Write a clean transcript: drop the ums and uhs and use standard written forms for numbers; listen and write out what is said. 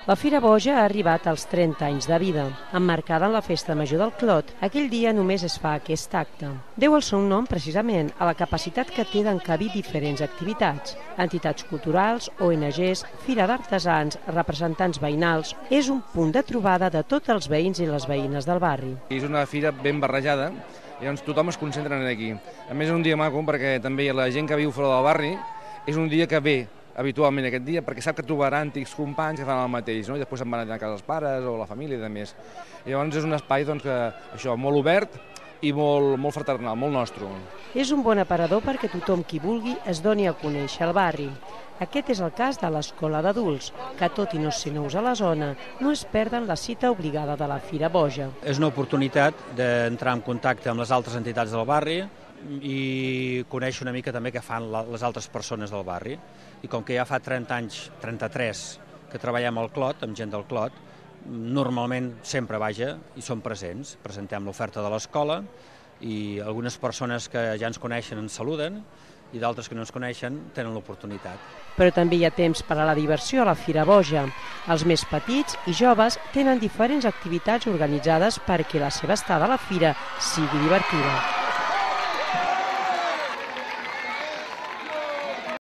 La Fira Boja ha arribat als 30 anys de vida. Emmarcada en la Festa Major del Clot, aquell dia només es fa aquest acte. Deu el seu nom precisament a la capacitat que té d'encabir diferents activitats. Entitats culturals, ONGs, fira d'artesans, representants veïnals. És un punt de trobada de tots els veïns i les veïnes del barri. És una fira ben barrejada, i llavors tothom es concentra aquí. A més és un dia maco perquè també la gent que viu fora del barri és un dia que ve habitualment aquest dia, perquè sap que trobarà antics companys que fan el mateix, no? I després se'n van anar a casa dels pares o la família i de més. I llavors és un espai molt obert i molt fraternal, molt nostre. És un bon aparador perquè tothom qui vulgui es doni a conèixer el barri. Aquest és el cas de l'Escola d'Adults, que tot i no ser nous a la zona, no es perden la cita obligada de la Fira Boja. És una oportunitat d'entrar en contacte amb les altres entitats del barri i conèixer una mica també què fan les altres persones del barri. I com que ja fa 30 anys, 33, que treballem al Clot, amb gent del Clot, normalment sempre i som presents. Presentem l'oferta de l'escola i algunes persones que ja ens coneixen ens saluden i d'altres que no ens coneixen tenen l'oportunitat. Però també hi ha temps per a la diversió a la Fira Boja. Els més petits i joves tenen diferents activitats organitzades perquè la seva estada a la fira sigui divertida.